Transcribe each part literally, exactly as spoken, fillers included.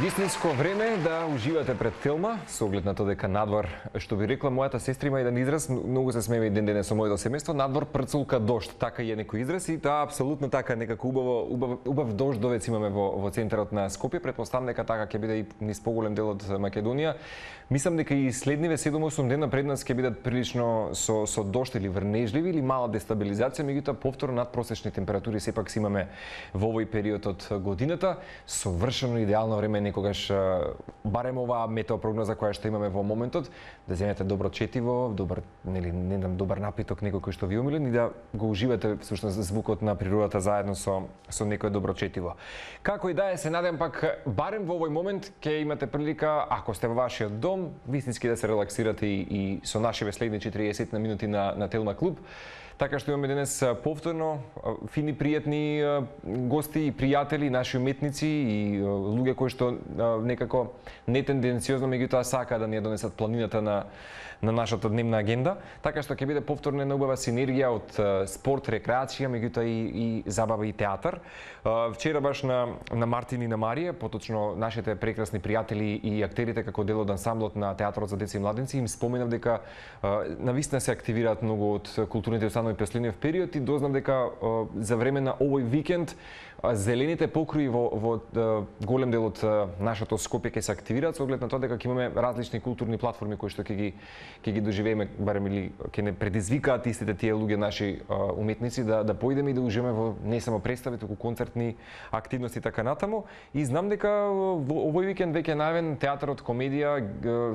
Вистинско време да уживате пред филма, со оглед на тоа дека надвор, што би рекла мојата сестра, има еден израз, многу се смееме ден денес со моето семејство, надвор прцулка дожд, така е некој израз и тоа апсолутно така, некако убаво убав, убав дождовец имаме во во центарот на Скопје, претпоставам дека така ќе биде и низ поголем дел од Македонија. Мислам дека и следниве седум-осум дена пред нас ќе бидат прилично со со дожд или врнежливи или мала дестабилизација, меѓутоа повторно надпросечни температури сепак си имаме во овој период од годината, совршено идеално време некогаш барем оваа метеопрогноза која што имаме во моментот, да земете добро четиво, добар, нели, не знам, добар напиток, некој кој што ви омилен и да го уживате всушност звукот на природата заедно со со некое добро четиво. Како и да е, се надевам пак барем во овој момент ќе имате прилика, ако сте во вашиот дом, вистински да се релаксирате и, и со нашиве следни четириесет на минути на на Телма клуб. Така што имаме денес повторно фини, пријатни гости и пријатели, наши уметници и луѓе кои што некако нетенденциозно меѓутоа сака да ни ја донесат планината на на нашата дневна агенда, така што ќе биде повторно една убава синергија од спорт, рекреација, меѓутоа и, и забава и театар. Вчера баш на на Мартин и на Марија, поточно нашите прекрасни пријатели и актерите како дел од ансамблот на театарот за деца и младенци, им споменав дека навистина се активираат многу од културните установи през следниот период и дознав дека за време на овој викенд зелените покрои во, во голем дел од нашето Скопје ќе се активираат со оглед на тоа дека ќе имаме различни културни платформи кои што ќе ги ќе ги доживееме, барем или ќе не предизвикаат истите тие луѓе наши уметници да да поидеме и да уживаме во не само представи, туку концертни активности така натаму. И знам дека во овој викенд веќе најавен театарот комедија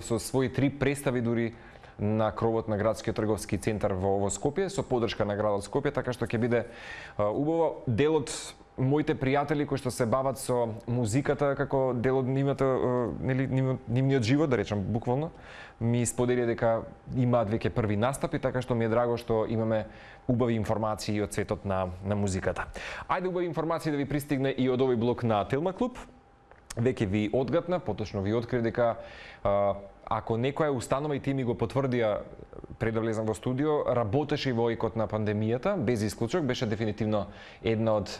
со своји три представи дури на кровот на градскиот трговски центар во, во Скопје со поддршка на градот Скопје, така што ќе биде убаво. Дел од моите пријатели кои што се бават со музиката како дел од нивната, нели, нивниот живот, да речам буквално, ми сподели дека имаат веќе први настапи, така што ми е драго што имаме убави информации од светот на на музиката. Ајде убави информации да ви пристигне и од овој блок на Телма клуб. Веќе ви одгатна, поточно ви открив дека а, ако некоја установа и ти ми го потврдија пред да влезам во студио, работеше и во екот на пандемијата, без исклучок, беше дефинитивно една од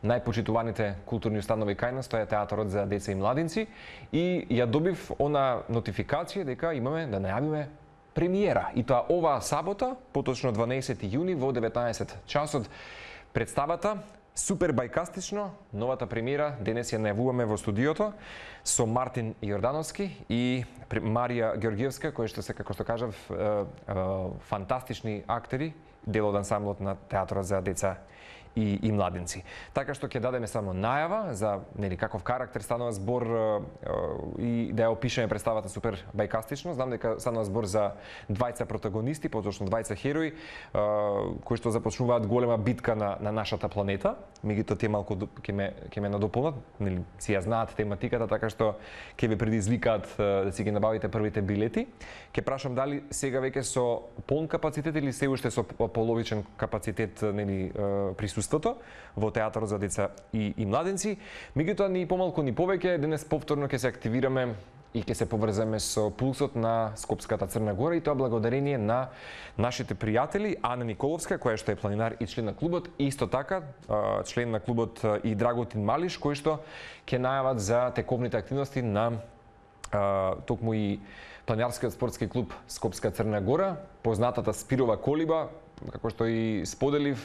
најпочитуваните културни установи кај нас, тоа е театарот за деца и младинци, и ја добив она нотификација дека имаме да најавиме премиера. И тоа оваа сабота, поточно дванаесети јуни во деветнаесет часот, представата супер бајкастично, новата премиера, денес ја најавуваме во студиото со Мартин Јордановски и Марија Ѓоргиевска, кои што се, како што кажав, фантастични актери, дел од ансамблот на театарот за деца и, и младенци. Така што ќе дадеме само најава за нели каков карактер станува збор и да ја опишеме представата супер бајкастично. Знам дека станува збор за двајца протагонисти, поточно двајца херои кои што започнуваат голема битка на на нашата планета. Меѓутоа тие малку ќе ме ќе ме надополнат, нели си ја знаат тематиката, така што ќе ве предизвикаат да си ги набавите првите билети. Ќе прашам дали сега веќе со полн капацитет или се уште со половичен капацитет, нели присуството во театарот за деца и, и младенци. Меѓутоа ни помалку ни повеќе, денес повторно ќе се активираме и ќе се поврземе со пулсот на Скопската Црна Гора, и тоа благодарение на нашите пријатели Ана Николовска, која што е планинар и член на клубот, и исто така член на клубот и Драготин Малиш, кои што ќе најават за тековните активности на токму и планинарскиот спортски клуб Скопска Црна Гора, познатата Спирова колиба. Како што и споделив,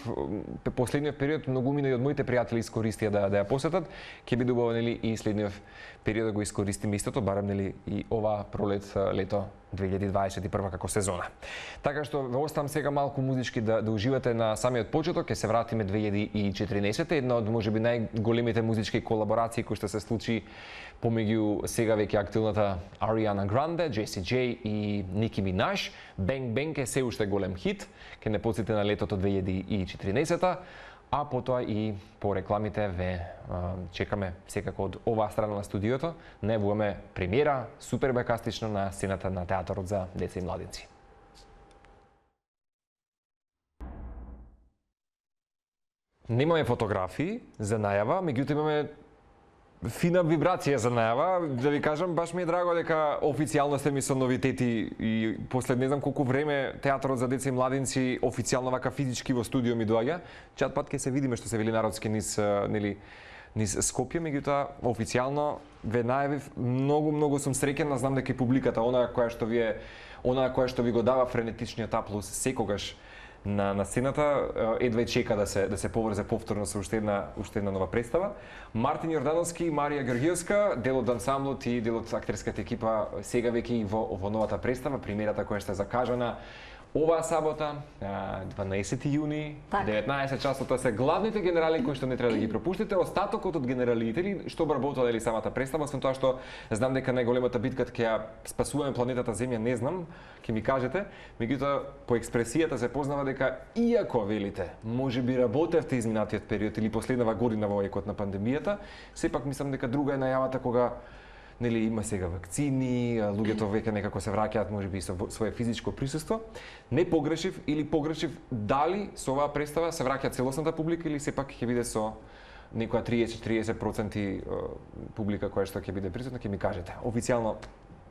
последниот период многумина и од моите пријатели искористија да да ја посетат. Ќе биде убаво нели и следниот период да го искористиме истото, барем нели и ова пролет, лето две илјади дваесет и прва како сезона. Така што ве оставам сега малку музички да да уживате на самиот почеток. Ќе се вратиме две илјади и четирнаесета, една од можеби најголемите музички колаборации кои што се случи помеѓу сега веќе актуелната Ариана Гранде, Джеси Джей и Ники Минаж. Бенг Бенг е се уште голем хит, ке не подсети на летото две илјади и четирнаесета, а потоа и по рекламите ве а, чекаме секако од оваа страна на студиото. Најавуваме премиера супер бајкастично на сцената на театарот за деца и младенци. Немаме фотографии за најава, меѓутоа имаме фина вибрација за најава. Да ви кажам, баш ми е драго дека официјално сте ми со новитети и после не знам колку време театарот за деца и младенци официјално вака физички во студио ми доаѓа. Чат пат ќе се видиме што се вели народски низ нели низ Скопје, меѓутоа официјално ве најавив, многу многу сум среќен, знам дека и публиката, она која што вие, она која што ви го дава френетичниот аплауз секогаш на на сцената, едва и чека да се да се поврзе повторно со уште една уште една нова представа. Мартин Јордановски, Марија Георгиевска, дел од ансамблот и дел од актерската екипа сега веќе и во во новата представа, премиерата која што е закажана оваа сабота, дванаесети јуни, деветнаесет часот, тоа се главните генерали кои што не треба да ги пропуштите. Остатокот од генералите или што обработува дали самата представа, освен тоа што знам дека најголемата битка ќе ја спасуваме планетата Земја, не знам, ќе ми кажете, меѓутоа по експресијата се познава дека иако велите, можеби работевте изминатиот период или последнава година во екот на пандемијата, сепак мислам дека друга е најавата кога нели има сега вакцини, луѓето веќе некако се враќаат можеби со свое физичко присуство. Не погрешив или погрешив, дали со оваа представа се враќа целосната публика или сепак ќе биде со некоја триесет до триесет проценти публика која што ќе биде присутна, ќе ми кажете. Официјално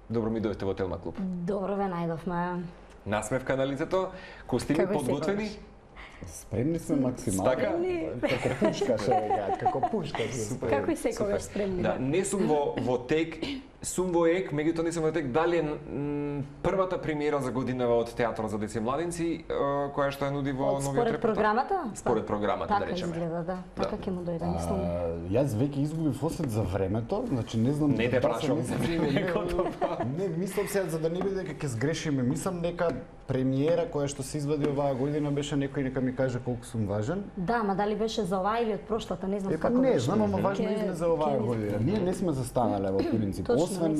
добро ми дојдовте во Телма клуб. Добро ве најдовме. Насмевка на лицето, костими подготвени. Спремни сме максимално. Така? Како пушка, што веќе, како пушка. Како и секогаш спремни. Да, не сум во во тек, сум во ек, меѓутоа не сум во тек. Дали е првата премиера за годинава од театарот за деца и младинци, која што ја нуди во новиот репертоар? Според програмата? Според програмата, да речеме. Така изгледа, да. Така ќе му дојде, мислам. Јас веќе изгубив осет за времето, значи не знам. Не те прашувам за времето. Не, мислам се за да не биде дека ќе сгрешиме. Мислам дека премиера која што се извади оваа година беше некој нека ми каже колку сум важен. Да, ма дали беше за оваа или од прошлата, не знам е, како не, беше. знам, ама важно излезе оваа година. Ние не сме застанале во принцип. Освен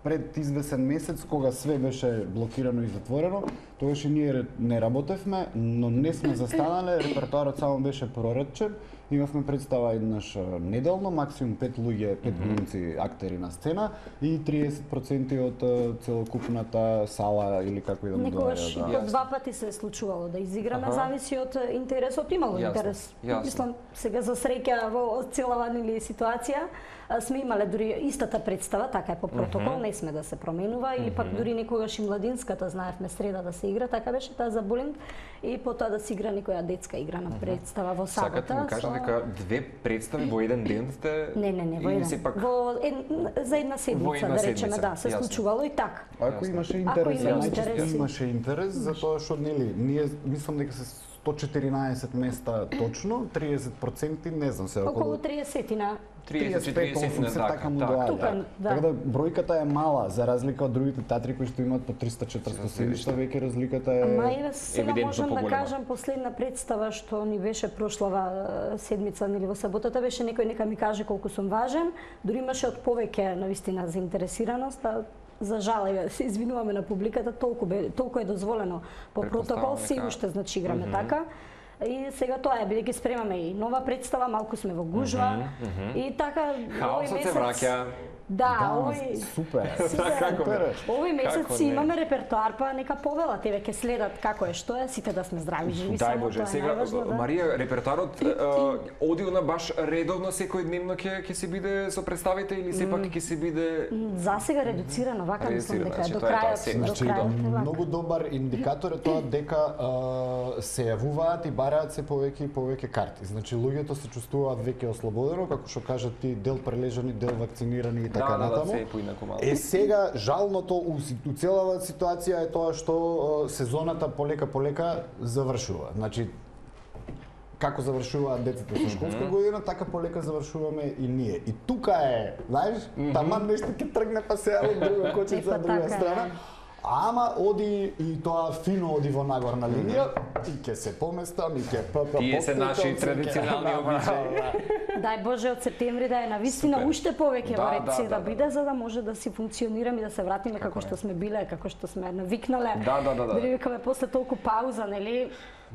пред извесен месец кога све беше блокирано и затворено, тогаш и ние не работевме, но не сме застанале, репертоарот само беше проредчен. Имавме представа еднаш неделно, максимум пет луѓе, пет глумци, актери на сцена и триесет проценти од целокупната сала или како и да му Некогаш доаѓа. по два пати се е случувало да изиграме, ага. Зависи од интересот, имало Јасно. интерес. Јасно. Мислам, сега за среќа во целава нели ситуација сме имале дури истата представа, така е по протокол, uh -huh. не сме да се променува, или uh -huh. пак дури некогаш и младинската знаевме среда да се игра, така беше таа за булинг и потоа да се игра некоја детска играна представа во сабота. Сакате ми кажа дека две представи во еден ден сте? Не, не, не, во еден. Сепак... Во ед... за една седмица, една да речеме, седмица. да, се Јасно. случувало и така. Ако имаше интерес, Ако има интерес, најчесто имаше интерес, затоа што нели, ние мислам дека се сто четиринаесет места точно, триесет проценти, не знам се околу Околу триесет на триесет до триесет триесет на така му така. доаѓа. Тука, да. Така да бројката е мала за разлика од другите театри кои што имаат по триста четириста седишта, веќе разликата е. Ама еве сега евидентно можам да поголема. кажам последна представа што ни беше прошлава седмица нели во саботата беше некој нека ми каже колку сум важен, дури имаше од повеќе навистина заинтересираност, а за жал, еве, се извинуваме на публиката, толку бе, толку е дозволено по протокол, се уште значи играме mm -hmm. така. И сега тоа е, бидејќи спремаме и нова представа, малку сме во гужва mm -hmm, mm -hmm. и така Хаосот овој се враќа. Да, Да, овој супер. супер. Како не? Овој месец Како си не? имаме репертоар, па нека повелат, еве ќе следат како е, што е, сите да сме здрави, живи, Дај само Боже, тоа е сега најважно, да. Марија, репертоарот оди на баш редовно секојдневно ќе ќе се биде со представите или сепак ќе се биде За сега редуцирано, вака мислам Редуцирано, дека значи до тоа е тоа крајот, се. до Значи, крајот е вака. многу добар индикатор е тоа дека а, се јавуваат и бараат се повеќе и повеќе карти. Значи луѓето се чувствуваат веќе ослободено, како што кажат ти, дел прележани, дел вакцинирани и така да, да, натаму. да, се поинаку малку. Е сега жалното у, у целава ситуација е тоа што а, сезоната полека полека завршува. Значи како завршуваат децата со школска година, така полека завршуваме и ние. И тука е, знаеш, таман нешто ќе тргне па се од друга кочица од друга страна. Ама оди и тоа фино оди во нагорна линија и ќе се поместам и ќе пп. Тие се наши традиционални обичаи. Дај Боже од септември да е навистина Супер. уште повеќе Да, во ред да, се да, да да. биде за да може да си функционираме и да се вратиме како што сме биле, како што сме навикнале. Да, да, да, да. Дали викаме после толку пауза, нели?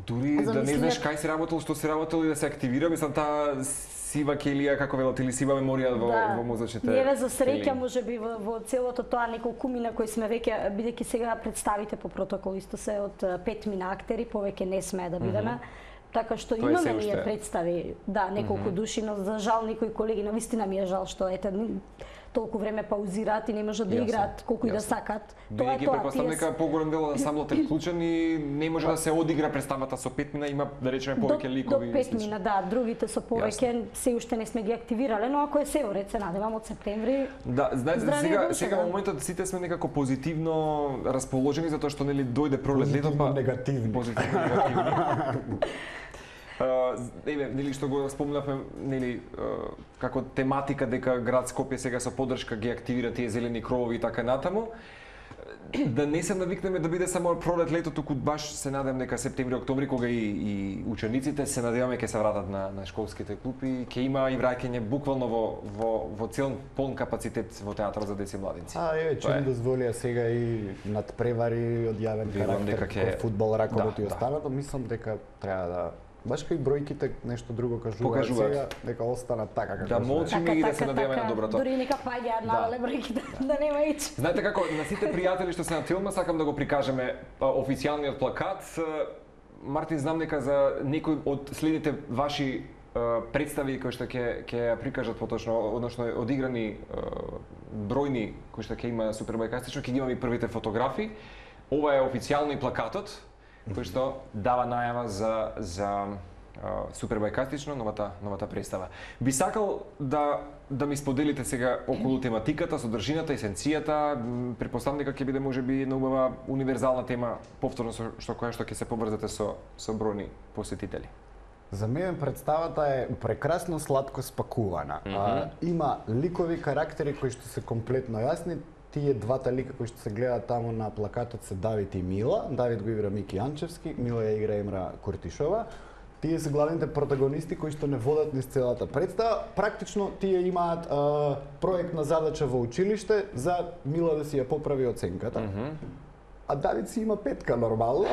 Дури да не Замислија- знаеш кај си работел, што си работел и да се активира, мислам таа сива келија, како велат, или сива меморија во, во мозочните. Ние за среќа келии. можеби во, во целото тоа неколку мина кои сме веќе, бидејќи сега представите по протокол исто се од а, пет мина актери, повеќе не сме да бидеме. Mm -hmm. Така што Тоа е се имаме ние уште. представи, да, неколку mm -hmm. души, но за жал некои колеги, навистина ми е жал што ете толку време паузираат и не можат да играат колку и да сакат. Тоа е тоа. Претпоставам дека поголем дел од ансамблот е вклучен и не може да се одигра представата со пет мина, има да речеме повеќе ликови. До пет мина, да, другите со повеќе се уште не сме ги активирале, но ако е се уред, се надевам од септември. Да, знаете, сега сега во моментот сите сме некако позитивно расположени затоа што нели дојде пролет лето, па негативни. Позитивно негативни. Uh, еве, нели што го спомнавме, нели uh, како тематика дека град Скопје сега со поддршка ги активира тие зелени кровови и така натаму. Да не се навикнеме да биде само пролет лето, туку баш се надевам дека септември, октомври, кога и, и учениците се надеваме ќе се вратат на, на школските клупи, ќе има и враќање буквално во, во, во цел полн капацитет во театар за деца и младинци. А, еве, че ни дозволија сега и надпревари од јавен карактер, ке... фудбал, раковот да, и останато, да. Мислам дека треба да баш кај бројките нешто друго кажуваат сега, дека останат така како да молчиме и да се надеваме на доброто. Дури нека паѓаат навале бројките, да нема ич. Знаете како, на сите пријатели што се на Тилма, сакам да го прикажеме официјалниот плакат. Мартин, знам дека за некои од следните ваши представи кои што ќе ќе прикажат поточно, односно одиграни бројни кои што ќе има супербајкастично, ќе ги имаме и првите фотографии. Ова е официјално и плакатот кој што дава најава за за супербајкастично новата новата представа. Би сакал да да ми споделите сега околу тематиката, содржината, есенцијата. Претпоставам дека ќе биде можеби една убава универзална тема повторно со што која што ќе се поврзате со со бројни посетители. За мене представата е прекрасно сладко спакувана. Mm -hmm. а, има ликови карактери кои што се комплетно јасни. Тие двата лика кои што се гледаат таму на плакатот се Давид и Мила. Давид го игра Мики Јанчевски, Мила ја игра Емра Куртишова. Тие се главните протагонисти кои што не водат низ целата представа. Практично тие имаат а, проектна задача во училиште за Мила да си ја поправи оценката. Mm -hmm. А Давид си има петка нормално.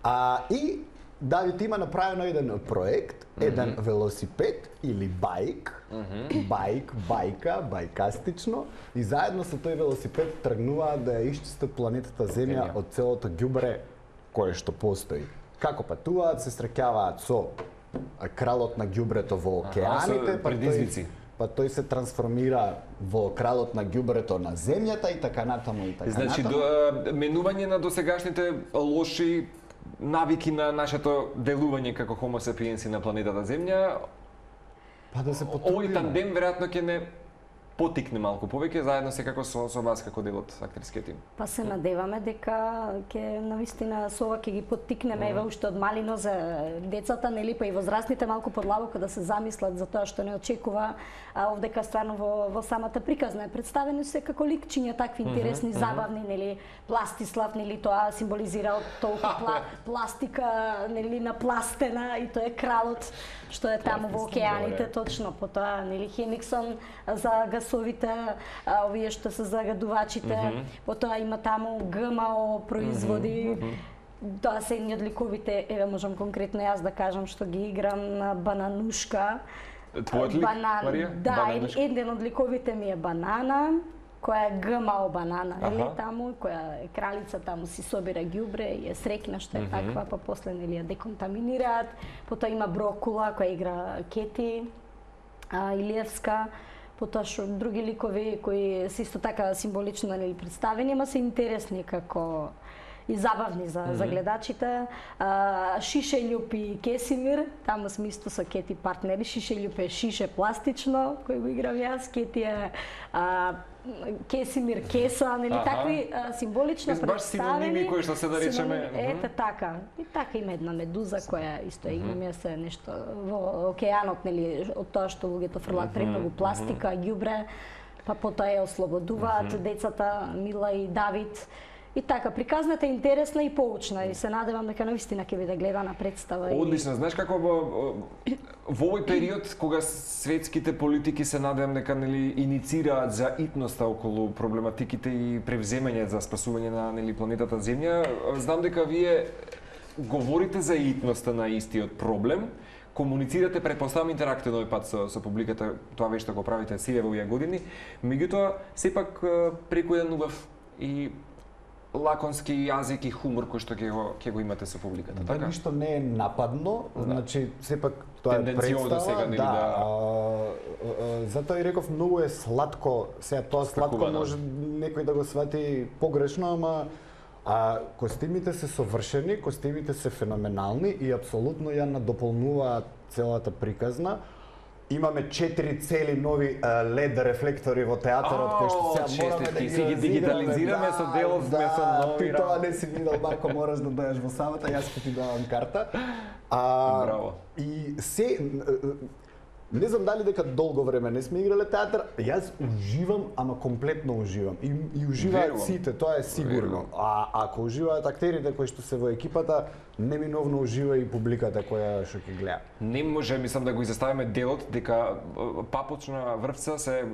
а и Давид има направено еден проект, еден mm -hmm. велосипед или бајк, mm -hmm. бајк, бајка, бајкастично, и заедно со тој велосипед тргнуваат да ја исчистат планетата Земја yeah. од целото ѓубре кое што постои. Како патуваат, се среќаваат со кралот на ѓубрето во океаните, па тој, па тој се трансформира во кралот на ѓубрето на Земјата и така натаму и така значи, натаму. Значи, менување на досегашните лоши навики на нашето делување како Homo sapiens на планетата Земја. Па да се потрудиме. Овој тандем веројатно ќе не потикне малку повеќе заедно секако со со вас како дел од актерскиот тим. Па се надеваме дека ќе навистина со ова ќе ги поттикнеме еве уште од малино за децата, нели, па и возрастните малку подлабоко да се замислат за тоа што не очекува а, овдека стварно во во самата приказна е представени се како ликчиња такви интересни, mm -hmm, забавни, нели, Пластислав, нели, тоа символизира толку пла, пластика, нели, напластена и тоа е кралот што е таму во океаните, точно потоа, нели, Хемиксон за гасовите, а, овие што се загадувачите, mm -hmm. потоа има таму ГМО производи. Mm -hmm. Тоа се едни од ликовите, еве можам конкретно јас да кажам што ги играм на Бананушка. Твојот лик, Банан... Марија? Да, Бананушка. Еден од ликовите ми е Банана, која е ГМО банана, нели, таму, која е кралица, таму си собира ѓубре и е среќна што е mm -hmm. таква, па после, нели, ја деконтаминираат. Потоа има Брокула, која игра Кети а, Илиевска. Потоа што други ликови кои се исто така символично, нели, представени, ама се интересни како и забавни за, mm -hmm. за гледачите. А, Шишељуп и Кесимир, таму сме исто со Кети партнери. Шишељуп е Шише пластично, кој го играм јас, Кети е а, Кесимир Кеса, нели, ага. такви а, символично представени. Баш синоними кои што се да речеме. Ете така. И така има една медуза која исто е, имаме се нешто во океанот, нели, од тоа што луѓето фрлаат премногу пластика, ѓубре, па потоа ја ослободуваат децата Мила и Давид. И така, приказната е интересна и поучна и се надевам дека навистина ќе биде гледана представа. Одлично, и... знаеш како во, во овој период кога светските политики се надевам дека, нели, иницираат за итноста околу проблематиките и превземање за спасување на, нели, планетата Земја, знам дека вие говорите за итноста на истиот проблем, комуницирате, претпоставам интерактивно овој пат со, со публиката, тоа веќе што го правите сите во овие години, меѓутоа сепак преку еден убав и лаконски јазик и хумор кој што ќе го ќе го имате со публиката, Да, така? ништо не е нападно, значи сепак тоа е Тенденциозно представа, сега, нели, да. да- а, а, затоа и реков многу е сладко, сега тоа сладко Спакувано. може некој да го свати погрешно, ама а костимите се совршени, костимите се феноменални и апсолутно ја надополнуваат целата приказна. Имаме четири цели нови uh, лед рефлектори во театарот кои што сега О, мораме да честитки, ги си ги разиграме. дигитализираме со делот, сме со нови ти тоа работи. не си видел, Марко, мораш да дојдеш во сабота, јас ќе ти давам карта. А, Браво. И се не знам дали дека долго време не сме играле театар, јас уживам, ама комплетно уживам. И, и уживаат Верувам. сите, тоа е сигурно. Верувам. А ако уживаат актерите кои што се во екипата, неминовно ужива и публиката која што ќе гледа. Не може, мислам, да го изоставиме делот дека е, папочна врвца се е,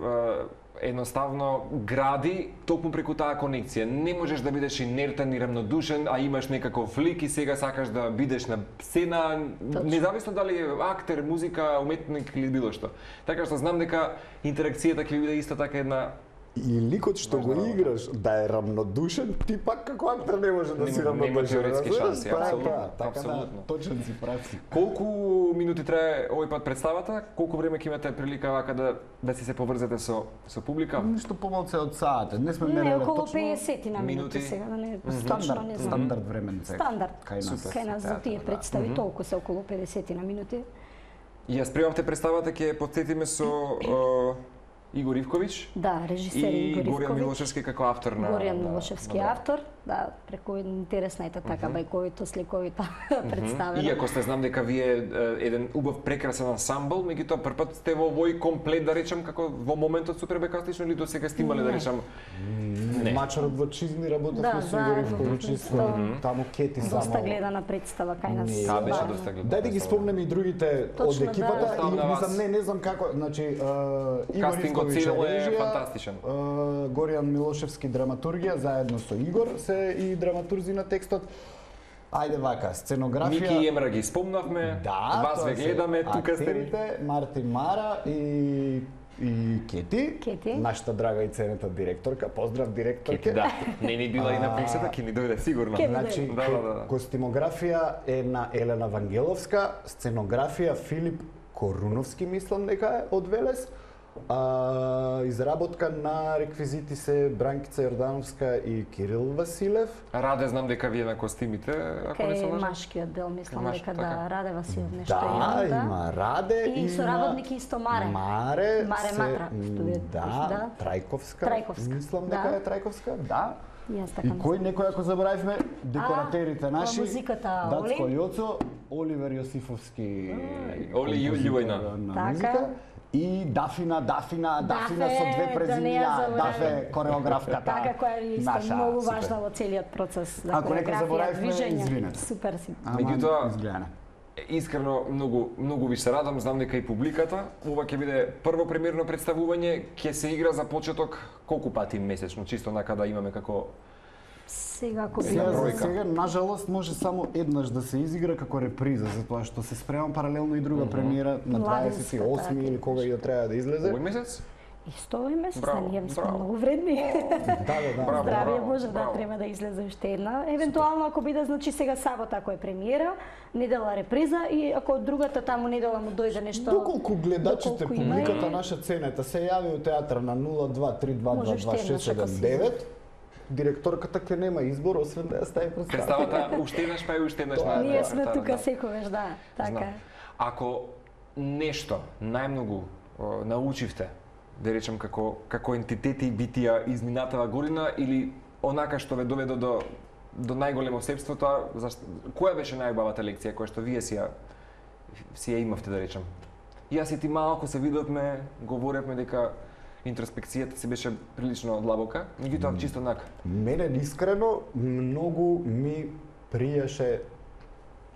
едноставно гради токму преку таа конекција. Не можеш да бидеш инертен и рамнодушен, а имаш некаков лик и сега сакаш да бидеш на сцена, независно дали е актер, музика, уметник или било што. Така што знам дека интеракцијата ќе биде исто така една. И ликот што го Важна играш да е рамнодушен, ти пак како актер не може да Нема- си нема рамнодушен. теоретски разбираш? шанси, Тоа е апсолутно, тоа, така да, апсолутно. точен си, прав си. Колку минути трае овој пат представата? Колку време ќе имате прилика вака да да си се поврзете со со публика? Ништо помалце од саат. Не сме Не, мереле околу точно. педесет на минути минути. сега, да не точно Стандард, не знам. стандард времен цех. Стандард. Кај нас. Кај нас за тие театар, да. представи толку се околу педесет на минути. Ја спремавте представата, ќе ја потсетиме со е, Игор Ивковиќ Да, режисер и Игор Горијан Ивковиќ. Милошевски како автор на Горијан на- Милошевски на- автор, да, преку интересна е така бајковито, сликовито представено. Иако сте знам дека вие е, еден убав прекрасен ансамбл, меѓутоа првпат сте во овој комплет да речам како во моментот супер бекастично или досега сте имале да Не. речам не. Мачарот во Чизми работевме Да, со Игор заедно, Ивковиќ, исто. таму Кети само. Доста гледана представа кај нас. Не, Таа беше Бавно. доста гледана. Дај да ги спомнеме и другите Точно, од екипата да. Оставам на и вас. мислам не не знам како, значи е, Игор Кастингот Ивковиќ цело е режија, фантастичен. е, Горијан Милошевски драматургија заедно со Игор се и драматурзи на текстот. Ајде вака, сценографија. Мики и Емра ги спомнавме, Да, вас тоа ве се гледаме, тука сте. актерите, Мартин Мара и и Кети, Кети. нашата драга и ценета директорка. Поздрав директорке. Да, не ни била и на А, пенсијата, ќе ни дојде сигурно. Ке- Значи, Да, да, да, да. костимографија е на Елена Вангеловска, сценографија Филип Коруновски, мислам дека е од Велес. А, изработка на реквизити се Бранкица Јордановска и Кирил Василев. Раде знам дека вие на костимите, ако не се Кај лажам. машкиот дел, мислам Маш, дека така. да, Раде Василев нешто Да, има, има Раде, И има соработник исто Маре. Маре, Маре се- Матра, што е- да, да. Трајковска. Трајковска, Мислам да. дека е Трајковска, да. Јас така И мислам. кој некој ако заборавивме, декоратерите А, наши, музиката Дацко Оли. Јоцо, Оливер Јосифовски, Оли Љу- композитор Љубојна. на Така. музика. И Дафина, Дафина, Дафина Дафе, со две да не ја презимија, забораваме. Дафе кореографката. Така која е исто наша, многу супер. важна во целиот процес за Ако некој хореографија, заборавивме, движење. извинете. Супер си. Ама Меѓутоа, изгледана. Искрено многу многу ви се радам, знам дека и публиката. Ова ќе биде прво премиерно представување, ќе се игра за почеток колку пати месечно, чисто нака да имаме како Сега ако би Сега Сега, за бројка. сега, нажалост, може само еднаш да се изигра како реприза, затоа што се спремам паралелно и друга премиера на Младинска, дваесет и осми така. или кога и да треба да излезе. овој месец. исто овој месец, Браво, да, ние сме браво. многу вредни. Да, да, да. Браво. Здравие Боже, да, браво. треба да излезе уште една. Евентуално ако биде, значи сега сабота ако е премиера, недела реприза и ако другата таму недела му дојде нешто. Доколку гледачите, доколку има и- публиката наша ценета се јави у театар на нула два три два два Може два уште шест еднаш ако седем се девет, директорката ќе нема избор освен да ја стави представа. Представата уште еднаш па и уште еднаш на Ние сме да, тука да. секогаш, да, така. Знам. Ако нешто најмногу о, научивте, да речем како како ентитети и битија изминатава година или онака што ве доведе до до најголемо себство, тоа зашто која беше најубавата лекција која што вие си ја си ја имавте да речем? Јас и ти малку се видовме, говоревме дека интроспекцијата си беше прилично длабока, меѓутоа чисто онака. Мене искрено многу ми пријаше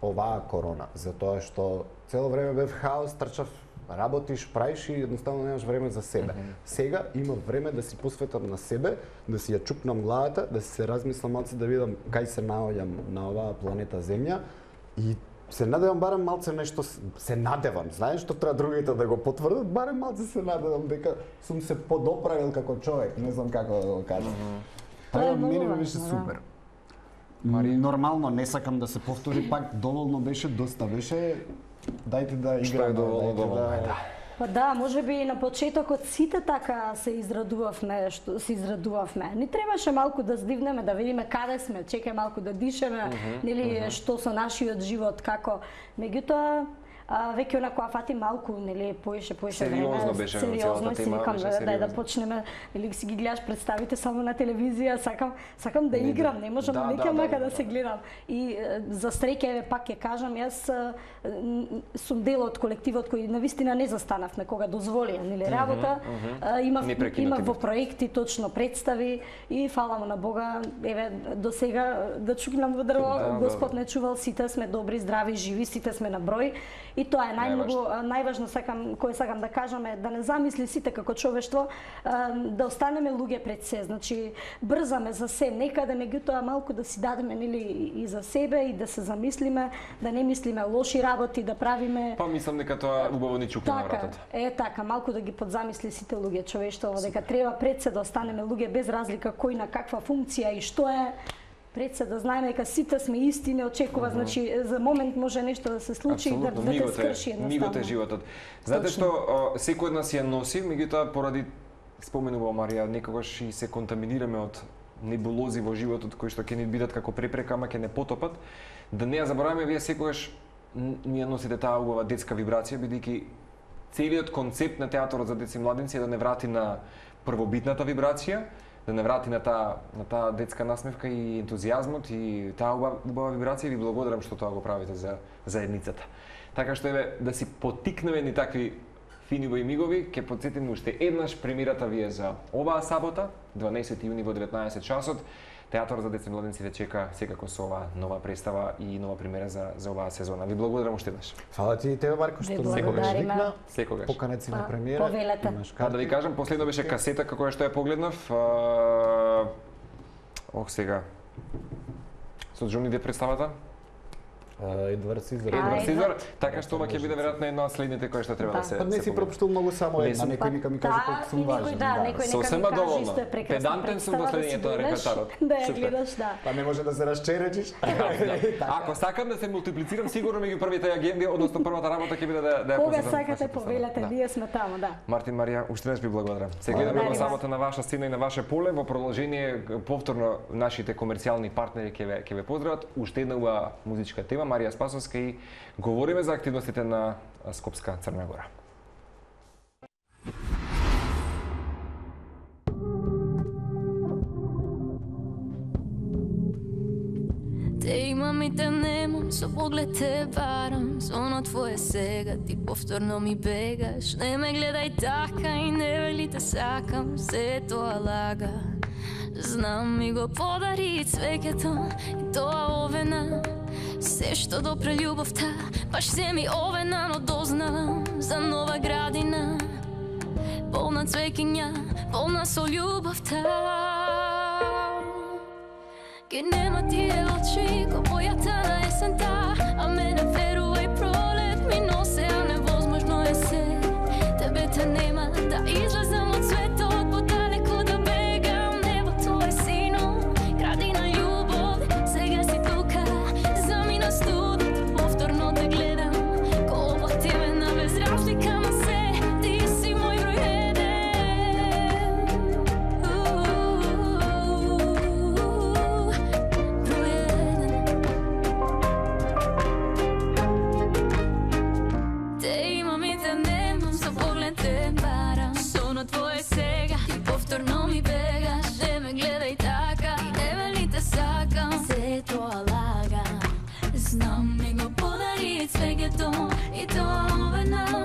оваа корона, затоа што цело време бев хаос, трчав, работиш, правиш и едноставно немаш време за себе. Сега имам време да си посветам на себе, да си ја чупнам главата, да си се размислам малце да видам кај се наоѓам на оваа планета Земја и се надевам барем малце нешто с- се надевам, знаеш што треба другите да го потврдат, барем малце се надевам дека сум се подоправил како човек, не знам како да го кажам. Тоа е Така, многу мене ми важно, беше да. супер. Марија? Нормално, не сакам да се повтори пак, доволно беше, доста беше. Дајте да играме. Што е доволно, доволно, да. Па да, може би на почетокот сите така се израдувавме, што се израдувавме. Ни требаше малку да здивнеме, да видиме каде сме, чекај малку да дишеме, uh -huh, нели uh -huh. што со нашиот живот, како. Меѓутоа, а, веќе онако фати малку, нели, поише, поише време. Сериозно беше сериозно и си тема, викам, беше да, да, да сериозно. почнеме, нели си ги гледаш представите само на телевизија, сакам, сакам да играм, не можам да, да, да, мака да, да се гледам. И е, за среќа, еве пак ќе кажам, јас е, сум дел од колективот кој навистина не застанавме кога дозволија, нели, работа. Uh -huh. Имав, Не имав во проекти точно представи и фала му на Бога, еве до сега да чукнам во дрво, Да, Господ да. не чувал, сите сме добри, здрави, живи, сите сме на број и тоа е најмногу најважно сакам кој сакам да кажам е да не замисли сите како човештво да останеме луѓе пред се, значи брзаме за се некаде, меѓутоа малку да си дадеме нели и за себе и да се замислиме, да не мислиме лоши работи, да правиме. Па мислам дека тоа убаво ни чукне на Така, вратата. е така, малку да ги подзамисли сите луѓе човештво, дека треба пред се да останеме луѓе без разлика кој на каква функција и што е. Пред се да знаеме дека сите сме исти, не очекува, uh -huh. значи за момент може нешто да се случи и да, да те скрши едноставно. Мигот е животот. Знаете Точно. што, секој од нас ја носи, меѓутоа поради споменува Марија, некогаш и се контаминираме од небулози во животот кои што ќе ни бидат како препрека, ама ќе не потопат. Да не ја забораваме, вие секогаш ни ја носите таа убава детска вибрација, бидејќи целиот концепт на театарот за деца и младенци е да не врати на првобитната вибрација, да не врати на таа на таа детска насмевка и ентузијазмот и таа убава, убава вибрација. Ви благодарам што тоа го правите за заедницата. Така што еве да си поттикнеме ни такви финиви мигови, ќе потсетиме уште еднаш премирата ви е за оваа сабота, дванаесети јуни во деветнаесет часот. Театарот за деца и младенци ве чека секако со оваа нова представа и нова премиера за за оваа сезона. Ви благодарам уште еднаш. Фала ти и тебе, Марко, што ме викна. Секогаш. Поканет си на премиера. Повелете. Имаш Да, да ви кажам, последно беше касета како што ја погледнав. А... Ох, сега. Со Џони Деп представата? Едвард Сизар. Едвард Сизар, така што ова ќе биде веројатно една од следните кои што треба да се. Па не си пропуштил многу само една, некој нека ми каже колку сум важен. Да, некој нека ми каже исто е прекрасна. Педантен сум до следењето на репертарот. Да ја гледаш, да. Па не може да се расчеречиш. Ако сакам да се мултиплицирам, сигурно меѓу првите агенди, односно првата работа ќе биде да да ја Кога посетам. сакате повелете, ние сме таму, да. Мартин, Марија, уште еднаш ви благодарам. Се гледаме во сабота на ваша сцена и на ваше поле. Во продолжение повторно нашите комерцијални партнери ќе ве ќе ве поздрават. Уште една убава музичка тема, Марија Спасовска, и говориме за активностите на Скопска Црна Гора. Те имам и те немам, со поглед те барам. Со оно твое сега, ти повторно ми бегаш. Не ме гледај така и не вели те сакам, се тоа лага. Знам ми го подари цвеќето и тоа овена. Се што допре љубовта, баш се ми овена, но дознавам за нова градина. Полна цвеќиња, полна со љубовта. Ке нема тие очи, ко бојата на есента, а мене верувај пролет ми носе, а невозможно е се. Тебе те нема, да излезам од светот, подалеку да бегам, небото е сино, градина љубов, сега си тука, замина студот, повторно те гледам, ко оплативена без разлика на се, ти си мој број еден. Те имам и те немам, со поглед те барам. Со на твое сега, ти повторно ми бегаш. Не ме гледај така, и не вели те сакам, се тоа лагам. Знам ми го подари цвеќето и тоа овена.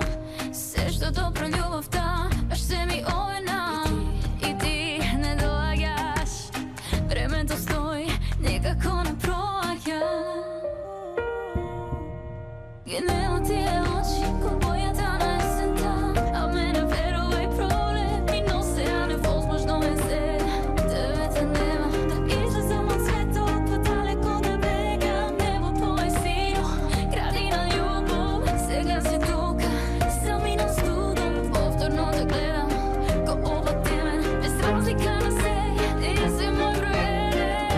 Се што добро љубовта, баш се ми овена. И ти не доаѓаш, времето стои, никако не проаѓа. Ке нема тие очи, ко бојата на есента, а мене верувај пролет ми носе, а невозможно е се. Тебе те нема, да излезам од светот, подалеку да бегам, небото е сино, градина љубов, сега си тука, заминам студом, повторно те гледам, ко оплатимен, без разлика на се, ти си мој број еден.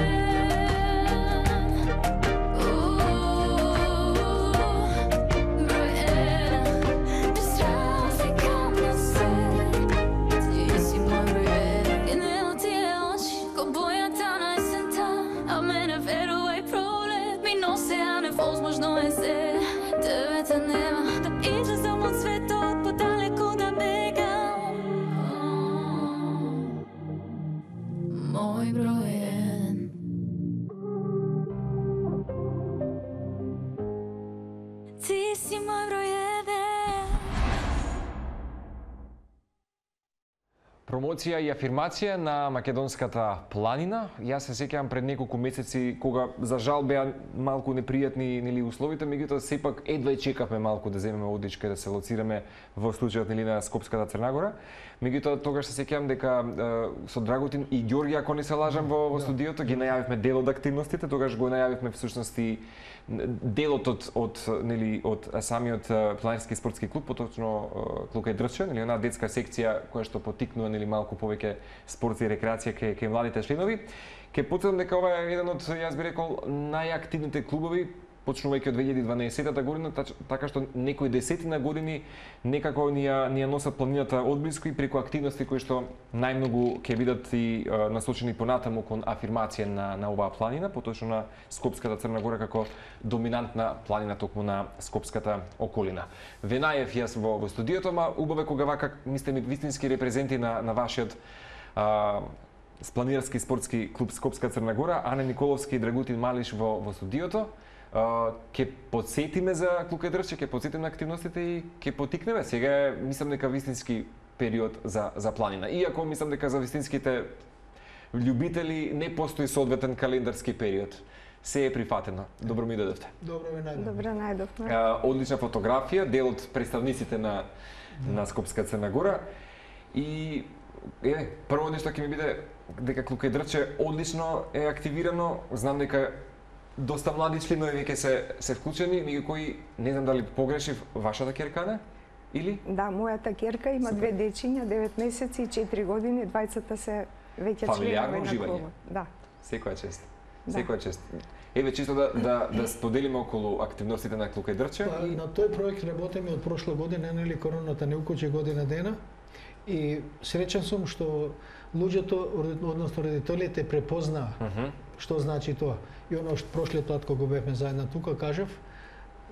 невозможно е се, тебе те нема, да излезам од светот, подалеку да бегам. Мој број еден. Ти си мој број еден. Промоција и афирмација на македонската планина. Јас се сеќавам пред неколку месеци кога за жал беа малку непријатни нели условите, меѓутоа сепак едва и чекавме малку да земеме одичка и да се лоцираме во случајот нели на Скопската Црна Гора. Меѓутоа тогаш се сеќавам дека е, со Драготин и Ѓорѓи, ако не се лажам, во, во студиото ги најавивме дел од активностите, тогаш го најавивме всушност и делот од од нели од самиот планински спортски клуб, поточно Клука и Дрче, нели онаа детска секција која што потикнува нели малку повеќе спорт и рекреација кај кај младите членови. Ке потврдам дека ова е еден од, јас би рекол, најактивните клубови, почнувајќи од две илјади и дванаесетта година, така што некои десетина години некако ни ја, ни ја носат планината одблиску и преку активности кои што најмногу ќе бидат и е, насочени понатаму кон афирмација на, на оваа планина, поточно на Скопската Црна Гора како доминантна планина токму на Скопската околина. Венаев јас во, во студиото, ма убаво кога вака, мислите ми, вистински репрезенти на, на вашиот а, планинарски спортски клуб Скопска Црна Гора, Ане Николовски и Драгутин Малиш во, во студиото. Uh, ке подсетиме за Клука и Дрче, ке подсетиме на активностите и ке потикнеме. Сега е, мислам дека вистински период за, за планина. Иако мислам дека за вистинските љубители не постои соодветен календарски период. Се е прифатено. Добро ми дојдовте. Добро ви најдовме. Добро најдовме. Uh, одлична фотографија, дел од представниците на, на Скопска Црна Гора. И е, прво нешто ќе ми биде дека Клука и Дрче одлично е активирано. Знам дека доста млади членови веќе се се вклучени, меѓу кои не знам дали погрешив, вашата ќерка не? Или? Да, мојата ќерка има две дечиња, девет месеци и четири години, двајцата се веќе фамилиарно членови на клубот. Да. Секоја чест. Да. Секоја чест. Еве чисто да да да споделиме околу активностите на Клука и Дрче. Па, И... на тој проект работиме од прошла година, нели короната не укочи година дена. И среќен сум што луѓето, односно родителите препознаа uh -huh. што значи тоа. И оно што прошлиот пат кога бевме заедно тука кажав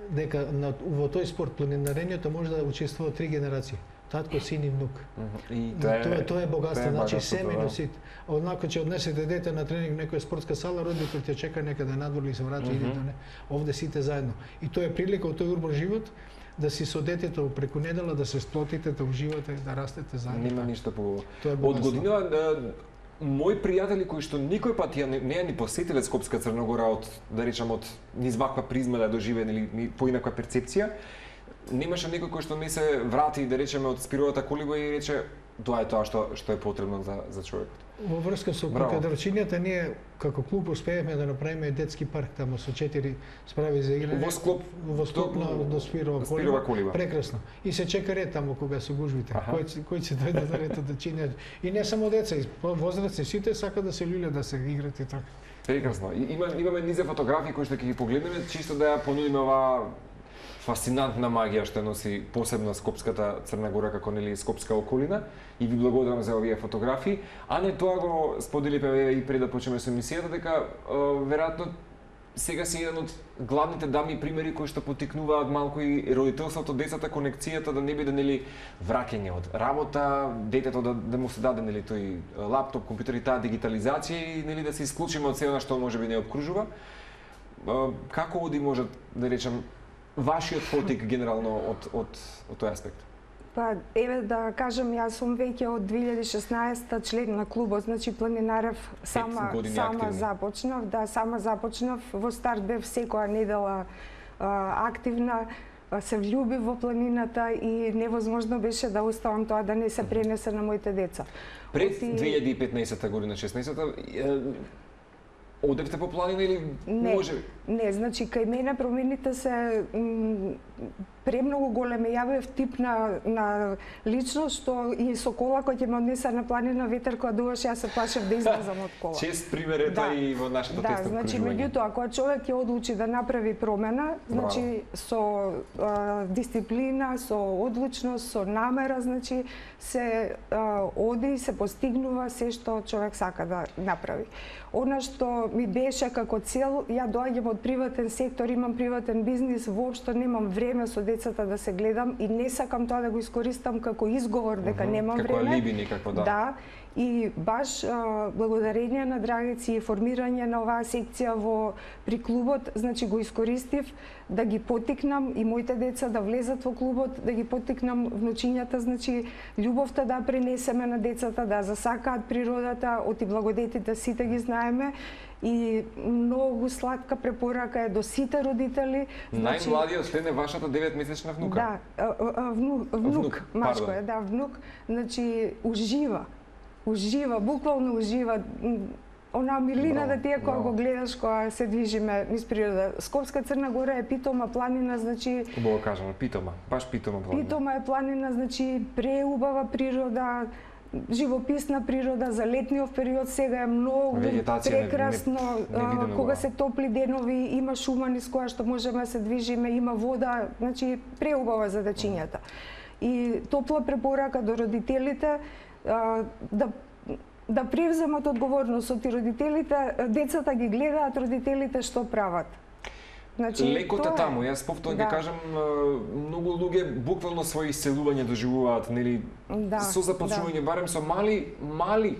дека на, во тој спорт планинарението може да учествуваат три генерации. Татко, син и внук. Uh -huh. И Тоа е, тоа, тоа е тоа богатство, е значи богатството, семејно сит. Однако ќе однесете дете на тренинг некоја спортска сала, родител ќе чека некаде надвор или се враќа uh -huh. идете не. Овде сите заедно. И тоа е прилика од тој урбан живот да си со детето преку недела да се сплотите, да уживате, да растете заедно. Нема ништо побаво. Тоа е Од богатство. година да, мои пријатели кои што никој пат ја не, не ја ни посетиле Скопска Црна Гора од, да речам, од низ ваква призма да доживеат или поинаква перцепција, немаше некој кој што не се врати, да речеме, од спировата колиба и рече тоа е тоа што што е потребно за за човекот. Во врска со Кукадрчињата ние како клуб успеевме да направиме детски парк тамо со четири справи за играње. Во склоп во склоп на до Спирова колиба. Спирова колиба. Прекрасно. И се чека ред тамо кога се гужвите. Кој кој ќе дојде да рето да чинат. И не само деца, и возрастни, сите сакаат да се луле да се играат и така. Прекрасно. И, има имаме низе фотографии кои што ќе ги погледнеме, чисто да ја понудиме оваа фасцинантна магија што носи посебно Скопската Црна Гора како нели скопска околина, и ви благодарам за овие фотографии. А не тоа го споделивме и пред да почнеме со емисијата дека веројатно сега си еден од главните дами примери кои што потикнуваат малку и родителството, децата, конекцијата да не биде нели враќање од работа, детето да, да му се даде нели тој лаптоп, компјутер и таа дигитализација и нели да се исклучиме од се она што можеби не обкружува. Како оди може да речам вашиот потик генерално од од од тој аспект? Па, еве да кажам, јас сум веќе од две илјади и шеснаесетта член на клубот, значи планинарев сама сама активно. започнав, да, сама започнав, во старт бев секоја недела а, активна, се влюбив во планината и невозможно беше да оставам тоа да не се пренесе на моите деца. Пред Оти... две илјади и петнаесетта година, шеснаесетта, одевте по планина или не, може? Не, значи кај мене промените се премногу големи. Ја бев тип на, на личност што и со кола кој ќе ме однесе на планина ветер кога дуваше, јас се плашев да излезам од кола. Чест пример е тоа и во нашето да, тесно значи, окружување. меѓутоа, кога човек ќе одлучи да направи промена, значи со а, дисциплина, со одлучност, со намера, значи се а, оди и се постигнува се што човек сака да направи. Она што што ми беше како цел, ја доаѓам од приватен сектор, имам приватен бизнис, воопшто немам време со децата да се гледам и не сакам тоа да го искористам како изговор дека mm -hmm. немам како време. Како алиби никако, да. Да. И баш а, благодарение на Драгици и формирање на оваа секција во при клубот, значи го искористив да ги поттикнам и моите деца да влезат во клубот, да ги поттикнам внучињата, значи љубовта да пренесеме на децата, да засакаат природата, оти благодетите сите ги знаеме. И многу сладка препорака е до сите родители. Значи, најмладиот член е вашата деветмесечна внука. Да, а, а, внук, внук, внук машко пардон. е, да, внук. Значи, ужива. Ужива, буквално ужива. Она милина да тие кога го гледаш кога се движиме низ природа. Скопска Црна Гора е питома планина, значи Убаво кажано, питома, баш питома планина. Питома е планина, значи преубава природа, живописна природа за летниот период сега е многу прекрасно, не, не, не кога се топли денови, има шума низ која што можеме да се движиме, има вода, значи преубава за дечињата. И топла препорака до родителите да да превземат одговорност и родителите, децата ги гледаат родителите што прават. Значи, лекота таму, јас повторно да. Ги кажам, многу луѓе буквално своји иселување доживуваат, нели, да, со започнување да. Барем со мали, мали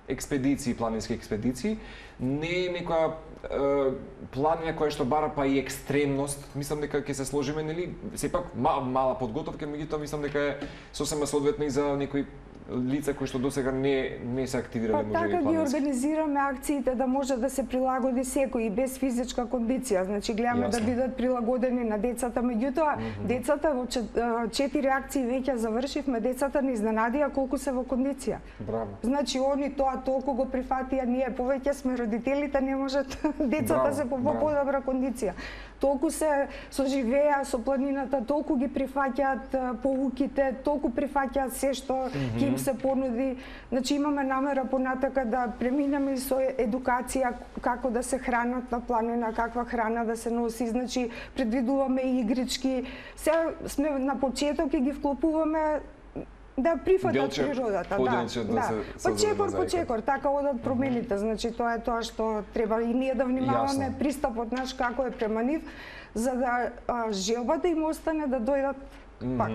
експедиции, планински експедиции, не е некоја е, планина која што бара па и екстремност. Мислам дека ќе се сложиме, нели, сепак мал, мала подготовка, меѓутоа мислам дека е сосема соодветна и за некои лица кои што досега не не се активирале па, така ги организираме акциите да може да се прилагоди секој и без физичка кондиција. Значи гледаме Јасно. Да бидат прилагодени на децата, меѓутоа mm -hmm. децата во четири акции веќе завршивме, децата не изненадија колку се во кондиција. Браво. Значи они тоа толку го прифатија, ние повеќе сме родителите, не можат децата се по подобра кондиција. Толку се соживеа со планината, толку ги прифаќаат поуките, толку прифаќаат се што mm -hmm. им се понуди. Значи имаме намера понатака да преминеме со едукација како да се хранат на планина, каква храна да се носи, значи предвидуваме игрички. Се сме на почеток и ги вклопуваме да прифатат Делче, природата, да. Да, да. По чекор, по чекор, така одат промените, значи тоа е тоа што треба и ние да внимаваме Јасно. Пристапот наш како е према нив, за да а, желбата им остане да дојдат mm -hmm. пак.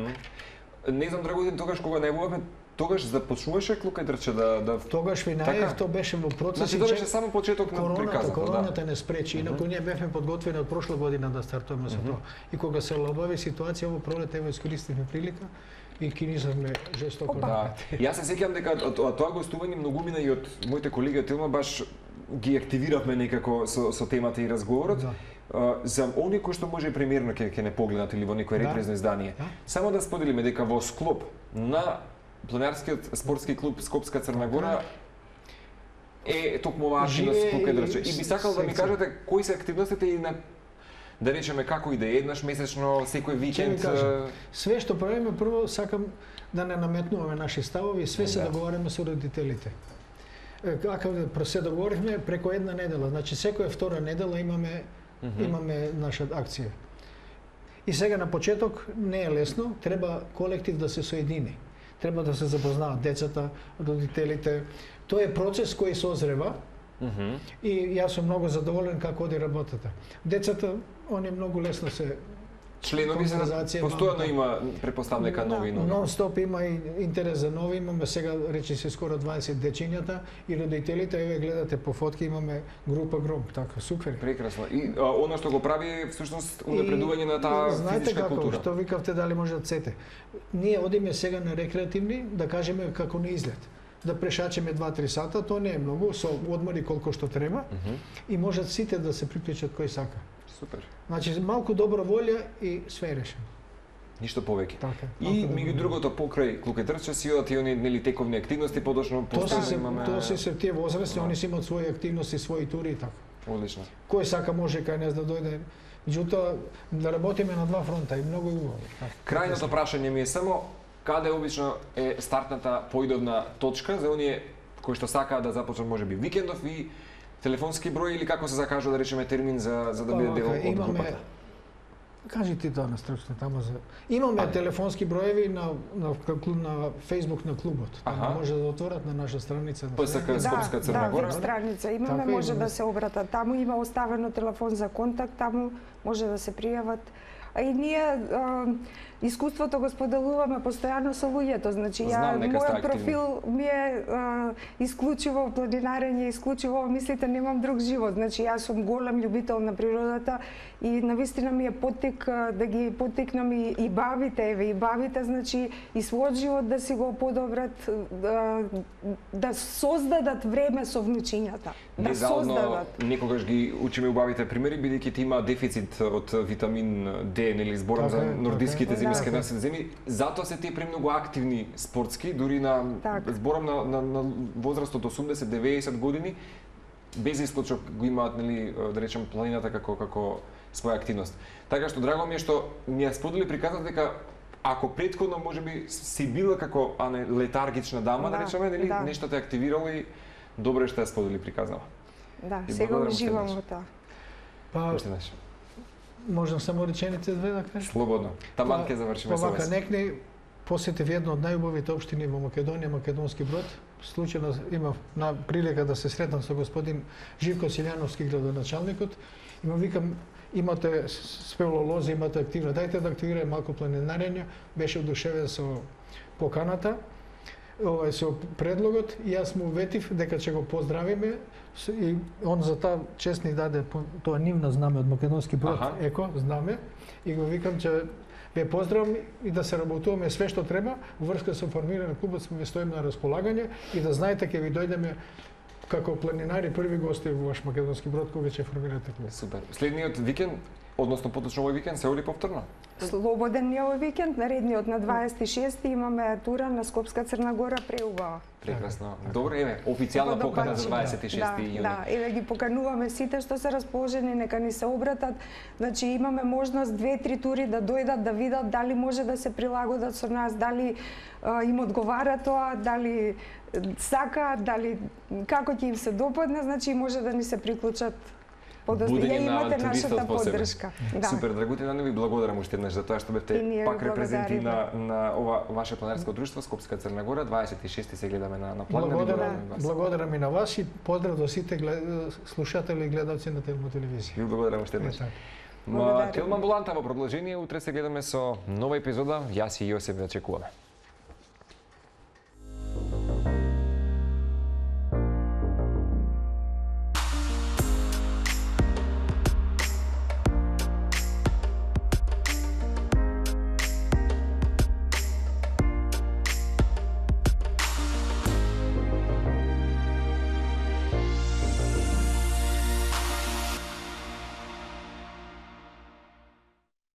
Не знам, Драготин, тогаш кога најавувавме, тогаш започнуваше Клука Дрче да да тогаш ви најав, тоа беше во процес. Значи тоа беше само почеток на приказата. Короната да. Не спречи, инаку ние бевме подготвени од прошла година да стартуваме со тоа. И кога се лабави ситуација во пролет, ево искористивме прилика и кинизавме жестоко. Да. Јас се сеќавам дека тоа гостување многумина и од моите колеги од Телма баш ги активиравме некако со, со темата и разговорот. Да. Uh, за они кои што може премиерно ќе ќе не погледнат или во некој репрезно да. Издание. Да. Само да споделиме дека во склоп на Планинарскиот спортски клуб Скопска Црна Гора е токму оваа активност Клука Дрче. И би сакал да ми кажете кои се активностите и на да речеме како и да е еднаш месечно, секој викенд. Све што правиме, прво сакам да не наметнуваме наши ставови, све се да. Договараме со родителите. Како се договоривме преку една недела, значи секоја втора недела имаме mm -hmm. имаме наша акција. И сега на почеток не е лесно, треба колектив да се соедини. Треба да се запознаат децата, родителите. Тоа е процес кој созрева. Mm -hmm. И јас сум многу задоволен како оди работата. Децата, они многу лесно се членови се постојано има препоставам дека нови нови. Нон-стоп има и интерес за нови, имаме сега речи се скоро дваесет дечињата и родителите, еве гледате по фотки имаме група гром, така супер. Прекрасно. И а, она што го прави е всушност унапредување на таа физичка како, култура. Што викавте дали може да сете. Ние одиме сега на рекреативни, да кажеме како на излет. Да прешачеме два-три сата, тоа не е многу, со одмори колку што треба mm -hmm. и можат сите да се приклучат кој сака. Супер. Значи малку добра волја и све е решено. Ништо повеќе. Така, и меѓу другото покрај Клука Дрче си одат и они нели тековни активности, подошно постојано имаме. Тоа се се тие возрасти, да. Они си имаат своји активности, своји тури и така. Одлично. Кој сака може кај нас да дојде. Меѓутоа да работиме на два фронта и многу и убаво. Крајното прашање ми е само каде обично е стартната поидовна точка за оние кои што сакаат да започнат можеби викендов и телефонски број или како се закажува да речеме термин за за да биде дел од групата? Кажи ти тоа на стручно таму за. Имаме телефонски броеви на на на Facebook на клубот. Таму може да отворат на наша страница. Па сака Скопска Црна Гора. Да, веб страница имаме, Така, може имаме. да се обратат. Таму има оставено телефон за контакт, таму може да се пријават. А и ние а, искуството го споделуваме постојано со луѓето. Значи, ја, мојот профил ми е а, исклучиво планинарење, исклучиво мислите, немам друг живот. Значи, јас сум голем љубител на природата и навистина ми е поттик а, да ги поттикнам и, и бабите, еве, и бабите, значи, и својот живот да си го подобрат, да, да создадат време со внучињата. Да создадат. Некогаш ги учиме убавите примери, бидејќи ти има дефицит од витамин Д, нели зборам за нордиските земјски насед земи, затоа се тие премногу активни спортски, дури на так. зборам на, на, на возраст од осумдесет до деветдесет години, без исклучок го имаат, нели, да речем, планината како како своја активност. Така што драго ми е што ми ја сподели приказната дека ако претходно можеби си била како а не летаргична дама, да, да речеме, нели, да. нешто те активирало и добро што ја сподели приказнава. Да, и сега уживам во тоа. Па, можам само реченица две да кажам? Слободно. Таман ќе завршиме со вас. Некне посетив една од најубавите општини во Македонија, Македонски Брод. Случајно имав на прилика да се сретнам со господин Живко Силјановски, градоначалникот. И му викам, имате спелолози, имате активно, дајте да активираме малку планинарење. Беше одушевен со поканата, овај со предлогот, и јас му ветив дека ќе го поздравиме и он за таа чест ни даде тоа нивно знаме од Македонски Брод, ага. Еко знаме, и го викам че ве поздравам и да се работуваме све што треба во врска со формирање на клубот, сме стоиме на располагање и да знаете ќе ви дојдеме како планинари први гости во ваш Македонски Брод кога ќе формирате клуб. Супер. Следниот викенд, односно поточно овој викенд, се оди повторно? Слободен е овој викенд, наредниот на дваесет и шести имаме тура на Скопска Црна Гора преубава. Прекрасно. Добро, еве, официјална покана за дваесет и шести да, јуни. Да, еве ги покануваме сите што се расположени, нека ни се обратат. Значи имаме можност две-три тури да дојдат да видат дали може да се прилагодат со нас, дали а, им одговара тоа, дали сакаат, дали како ќе им се допадне, значи може да ни се приклучат. Подозрение имате нашата поддршка. Да. Супер, Драгутина, не ви благодарам уште еднаш за тоа што бевте пак репрезенти на, на ова ваше планинарско друштво Скопска Црна Гора. дваесет и шести се гледаме на, на план. Благодарам, благодарам и на вас и поздрав до сите глед... слушатели и гледалци на телевизија. Ви благодарам уште еднаш. Ма, Телма Амбуланта во продолжение, утре се гледаме со нова епизода. Јас и Јосиф ве очекуваме.